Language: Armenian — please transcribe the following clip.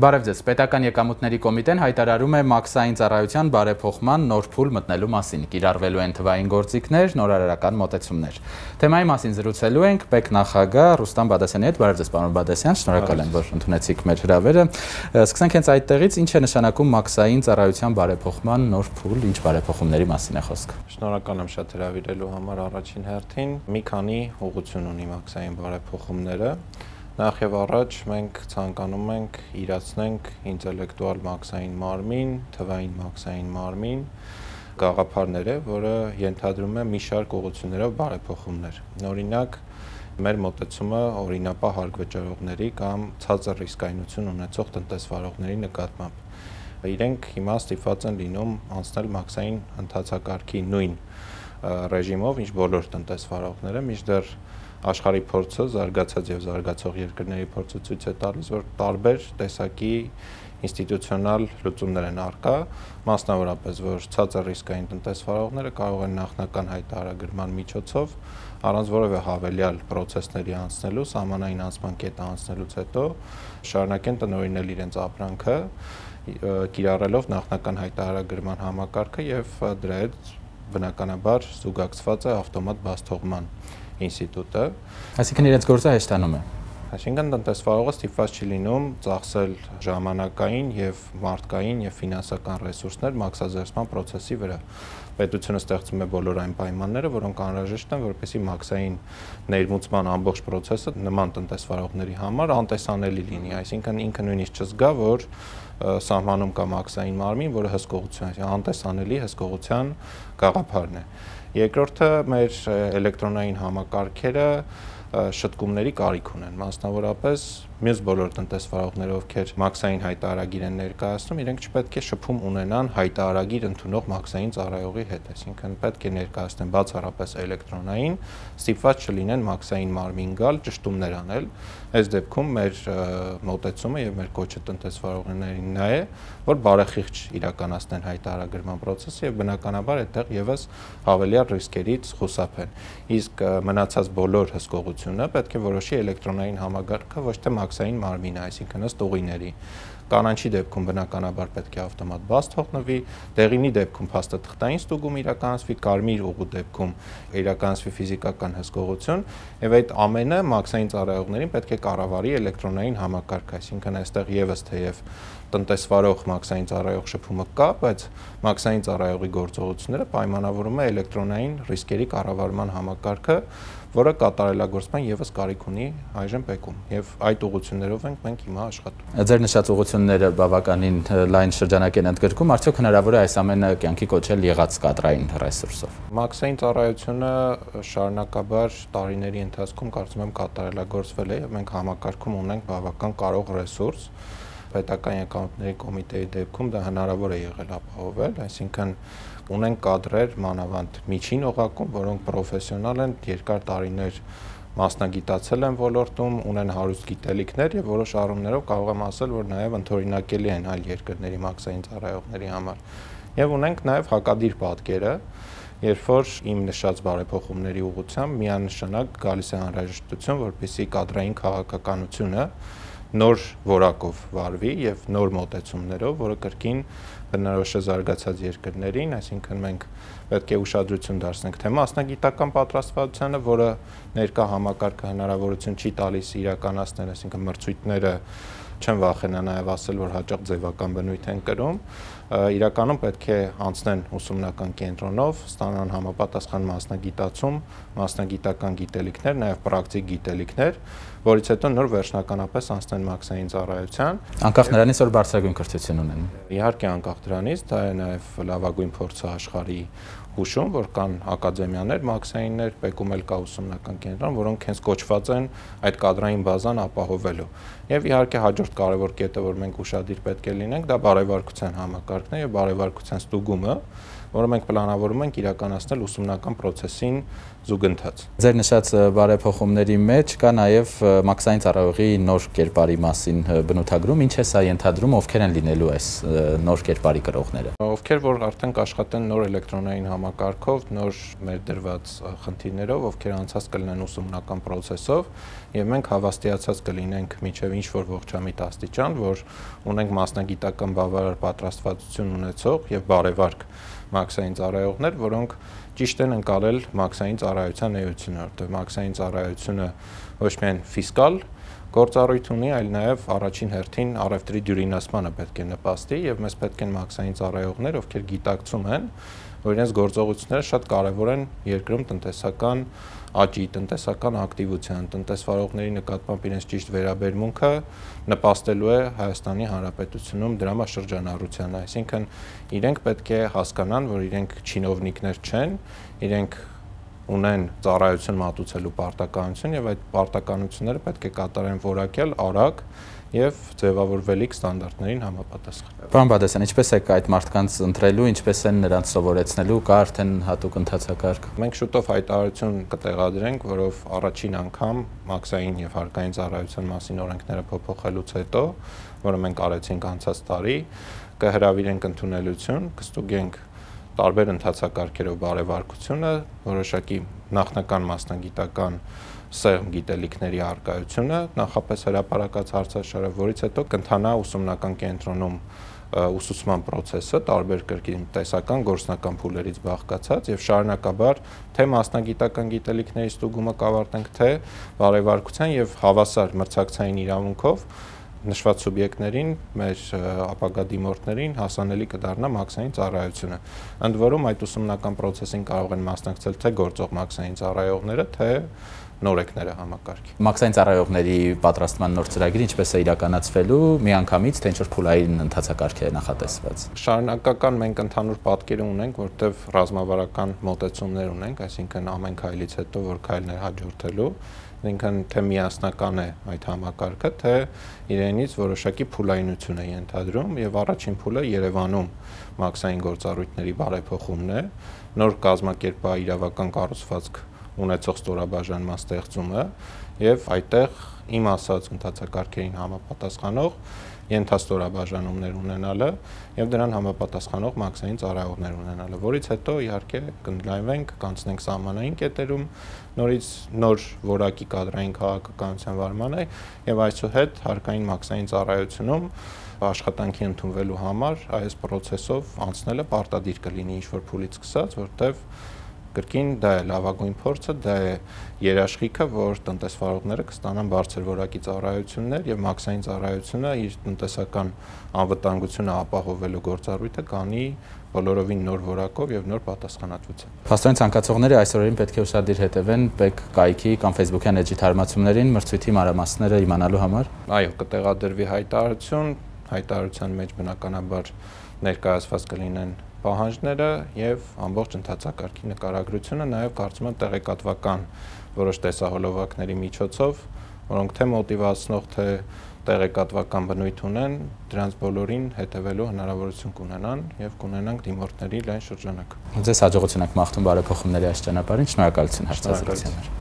Բարև ձեզ, Պետական եկամուտների կոմիտեն հայտարարում է մաքսային ծառայության բարեփոխման նոր փուլ մտնելու մասին, կիրառվելու են թվային գործիքներ, նորարարական մոտեցումներ։ Թեմայի մասին զրուցելու ենք ՊԵԿ նախագահ Ռուստամ Բադասյանի հետ։ Բարև ձեզ, պարոն Բադասյան, շնորհակալ եմ, որ ընդունեցիք մեր հրավերը։ Սկսենք հենց այդտեղից, ինչ է նշանակում մաքսային ծառայության բարեփոխման նոր փուլ, ինչ բարեփոխումների մասին է խոսքը։ Շնորհակալ եմ շատ հրավիրելու համար առաջին հերթին։ Մի քանի ուղղություն ունի մաքսային բարեփոխումները։ Նախ եւ առաջ մենք ցանկանում ենք իրացնենք ինտելեկտուալ մաքսային մարմին, թվային մաքսային մարմին, գաղափարներ է, որը ենթադրում է մի շարք ուղղություններով բարեփոխումներ։ Օրինակ, մեր մոտեցումը օրինապահ հարկվճարողների կամ ցածր ռիսկայնություն ունեցող տնտեսվարողների նկատմամբ։ Իրենք հիմա ստիպված են լինում անցնել մաքսային ընթացակարգի նույն ռեժիմով, ինչ բոլոր տնտեսվարողները, մինչդեռ աշխարհի փորձը, զարգացած եւ զարգացող երկրների փորձը ցույց է տալիս, որ տարբեր տեսակի ինստիտուցիոնալ լուծումներ են առկա, մասնավորապես, որ ցածր ռիսկային տնտեսվարողները կարող են նախնական հայտարարագրման միջոցով առանց որևէ հավելյալ պրոցեսների անցնելու, սահմանային անցման կետը անցնելուց հետո շարունակեն տնօրինել իրենց ապրանքը, կիրառելով նախնական հայտարարագրման համակարգը եւ դրա հետ բնականաբար զուգակցված է ավտոմատ բացթողման ինստիտուտը, այսինքն իրենց գործը հեշտանում է։ Այսինքն տնտեսվարողը ստիպված չի լինում ծախսել ժամանակային եւ մարդկային եւ ֆինանսական ռեսուրսներ մաքսազերծման process-ի վրա։ Պետությունը ստեղծում է բոլոր այն պայմանները, որոնք անհրաժեշտ են, որպեսզի մաքսային ներմուծման ամբողջ process-ը նման տնտեսվարողների համար անտեսանելի լինի, այսինքն ինքը նույնիսկ չզգա, որ սահմանում կա մաքսային մարմին, որը հսկողության, անտեսանելի հսկողության գաղափարն է։ Երկրորդը մեր էլեկտրոնային համակարգերը շտկումների կարիք ունեն, մասնավորապես մյուս բոլոր տնտեսվարողները, ովքեր մաքսային հայտարարագիր են ներկայացնում, իրենք չպետք է շփում ունենան հայտարարագիր ընդունող մաքսային ծառայողի հետ, այսինքն պետք է ներկայացնեն բացառապես էլեկտրոնային, ստիպված չլինեն մաքսային մարմին գալ, ճշտումներ անել։ Այս դեպքում մեր մոտեցումը եւ մեր կոչը տնտեսվարողներին նա է, որ բարեխիղճ իրականացնեն հայտարարագրման process-ը եւ բնականաբար այդտեղ եւս հավելյալ ռիսկերից խուսափեն։ Իսկ մնացած բոլոր հսկողությունը պետք է որոշի էլեկտրոնային համակարգը, ոչ թե մաքսային մարմինը, այսինքն ըստ ուղիների։ Կանաչի դեպքում բնականաբար պետք է ավտոմատ բաց թողնվի, դեղինի դեպքում փաստաթղթային ստուգում իրականացվի, կարմիր ուղու դեպքում իրականացվի ֆիզիկական հսկողություն, եւ այդ ամենը մաքսային ծառայողներին պետք է կառավարի էլեկտրոնային համակարգ, այսինքն այստեղ եւս թեև տնտեսվարող մաքսային ծառայող շփումը կա, բայց մաքսային ծառայողի գործողությունները պայմանավորում է էլեկտրոնային ռիսկերի կառավարման համակարգը, որը կատարելագործման եւս կարիք ունի այժմ ՊԵԿ-ում եւ այդ ուղղություններով ենք մենք հիմա աշխատում։ Ձեր նշած ուղղությունները բավականին լայն շրջանակ են ընդգրկում, արդյոք հնարավոր է այս ամենը կյանքի կոչել եղած կադրային ռեսուրսով։ Մաքսային ծառայությունը շարունակաբար տարիների ընթացքում կարծում եմ կատարելագործվել է եւ մենք համակարգում ունենք բավական կարող ռեսուրս։ Պետական եկամուտների կոմիտեի դեպքում դա հնարավոր է եղել ապահովել, այսինքն ունենք կադրեր մանավանդ միջին օղակում, որոնք պրոֆեսիոնալ են, երկար տարիներ մասնագիտացել են ոլորտում, ունեն հարուստ գիտելիքներ եւ որոշ առումներով կարող եմ ասել, որ նաեւ ընդօրինակելի են այլ երկրների մաքսային ծառայողների համար։ Եվ ունենք նաեւ հակադիր պատկերը, երբ որ իմ նշած բարեփոխումների ուղղությամբ միանշանակ գալիս է անհրաժեշտություն, որպեսզի կադրային քաղաքականությունը նոր որակով վարվի եւ նոր մոտեցումներով, որը կրկին բնորոշ է զարգացած երկրներին, այսինքն մենք պետք է ուշադրություն դարձնենք թե մասնագիտական պատրաստվածությանը, որը ներկա համակարգը հնարավորություն չի տալիս իրականացնել, այսինքն մրցույթները չեմ վախենա նաև ասել, որ հաճախ ձևական բնույթ են կրում, իրականում պետք է անցնեն ուսումնական կենտրոնով, ստանան համապատասխան մասնագիտացում, մասնագիտական գիտելիքներ, նաև պրակտիկ գիտելիքներ, որից հետո նոր վերջնականապես անցնեն մաքսային ծառայության։ Անկախ նրանից, որ բարձրագույն կրթություն ունեն։ Իհարկե անկախ դրանից, դա է նաև լավագույն փորձը աշխարհի հուշում, որ կան ակադեմիաներ, մաքսայիններ, ՊԵԿ-ում էլ կա ուսումնական կենտրոն, որոնք հենց կոչված են այդ կադրային բազան ապահովելու։ Եվ իհարկե հաջորդ կարևոր կետը, որ մենք ուշադիր պետք է լինենք, դա բարեվարկության համակարգն է եւ բարեվարկության ստուգումը, որը մենք պլանավորում ենք իրականացնել ուսումնական process-ին զուգընթաց։ Ձեր նշած բարեփոխումների մեջ կա նաև մաքսային ծառայողի նոր կերպարի մասին բնութագրում, ինչ է սա ենթադրում, ովքեր են լինելու այս նոր կերպարի կրողները։ Ովքեր որ արդեն կաշխատեն նոր էլեկտրոնային համակարգով, նոր մեր դրված խնդիրներով, ովքեր անցած կլինեն ուսումնական process-ով, եւ մենք հավաստիացած կլինենք միջև ինչ-որ ողջամիտ աստիճան, որ ունենք մասնագիտական բավարար պատրաստվածություն ունեցող եւ բարեվարկ մաքսային ծառայողներ, որոնք ճիշտ են ընկալել մաքսային ծառայության էությունը, որտեղ մաքսային ծառայությունը ոչ միայն ֆիսկալ գործառույթ ունի, այլ նաև առաջին հերթին առևտրի դյուրինացմանը պետք է նպաստի եւ մեզ պետք են մաքսային ծառայողներ, ովքեր գիտակցում են, որ իրենց գործողությունները շատ կարեւոր են երկրում տնտեսական աճի, տնտեսական ակտիվության, տնտեսվարողների նկատմամբ իրենց ճիշտ վերաբերմունքը նպաստելու է Հայաստանի Հանրապետությունում դրամաշրջանառությանը, այսինքն իրենք պետք է հասկանան, որ իրենք չինովնիկներ չեն, իրենք ունեն ծառայություն մատուցելու պարտականություն եւ այդ պարտականությունները պետք է կատարեն որակյալ, արագ եւ ձևավորվելիք ստանդարտներին համապատասխան։ Պարոն Բադասյան, ինչպես է այդ մարդկանց ընտրելու, ինչպես են նրանց սովորեցնելու, կա արդեն հատուկ ընթացակարգ։ Մենք շուտով հայտարարություն կտեղադրենք, որով առաջին անգամ մաքսային եւ հարկային ծառայության մասին օրենքները փոփոխելուց հետո, որը մենք արեցինք անցած տարի, կհրավիրենք ընդունելություն, կստուգենք տարբեր ընթացակարգերով բարեվարկությունը, որոշակի նախնական մասնագիտական սերմ գիտելիքների արկայությունը, նախապես հրապարակած հարցաշարը, որից հետո կընթանա ուսումնական կենտրոնում ուսուցման process-ը տարբեր կրկին տեսական գործնական փուլերից բաղկացած եւ շարունակաբար թե մասնագիտական գիտելիքների ստուգումը կավարտենք, թե բարեվարկության եւ հավասար մրցակցային իրավունքով նշված սուբյեկտներին, մեր ապագա դիմորդներին հասանելի կդառնա մաքսային ծառայությունը։ Ընդ որում այդ ուսումնական process-ին կարող են մասնակցել թե գործող մաքսային ծառայողները, թե նորեկները համակարգի։ Մաքսային ծառայողների պատրաստման նոր ծրագիրը ինչպես է իրականացվելու, միանգամից թե ինչ-որ փուլային ընթացակարգ է նախատեսված։ Շարունակական մենք ընդհանուր պատկերը ունենք, որտեղ ռազմավարական մոտեցումներ ունենք, այսինքն ամեն քայլից հետո որ քայլն է հաջորդելու, ինքն թե միասնական է այդ համակարգը, թե իրենից որոշակի փուլայնություն է ենթադրում եւ առաջին փուլը Երևանում մաքսային գործառույթների բարեփոխումն է, նոր կազմակերպա իրավական կառուցվածք ունեցող ստորաբաժանման ստեղծումը եւ այդտեղ իմ ասած ընթացակարգերին համապատասխանող ենթաստորաբաժանումներ ունենալը եւ դրան համապատասխանող մաքսային ծառայողներ ունենալը, որից հետո իհարկե կընդլայնվենք, կանցնենք սահմանային կետերում, նորից նոր որակի կադրային քաղաքականության վարմանը եւ այսուհետ հարկային մաքսային ծառայությունում աշխատանքի ընդունվելու համար այս process-ով անցնելը պարտադիր կլինի ինչ-որ փուլից սկսած, որտեվ կրկին դա է լավագույն փորձը, դա է երաշխիքը, որ տնտեսվարողները կստանան բարձր որակի ծառայություններ եւ մաքսային ծառայությունը իր տնտեսական անվտանգությունը ապահովելու գործառույթը կանի բոլորովին նոր որակով եւ նոր պատասխանատվությամբ։ Փաստորեն ցանկացողները այս օրերին պետք է ուշադիր հետևեն ՊԵԿ կայքի կամ Facebook-յան էջի թարմացումներին մրցույթի մանրամասները իմանալու համար։ Այո, կտեղադրվի հայտարարություն, հայտարարության մեջ բնականաբար ներկայացված կլինեն պահանջները եւ ամբողջ ընթացակարգի նկարագրությունը, նաեւ կարծում եմ տեղեկատվական որոշ տեսահոլովակների միջոցով, որոնք թե մոտիվացնող, թե տեղեկատվական բնույթ ունեն, դրանց բոլորին հետևելու հնարավորություն կունենան եւ կունենանք դիմորդների լայն շրջանակ։ Ձեզ հաջողություն եք մաղթում բարեփոխումների այս ճանապարհին, շնորհակալություն հարցազրույցի համար։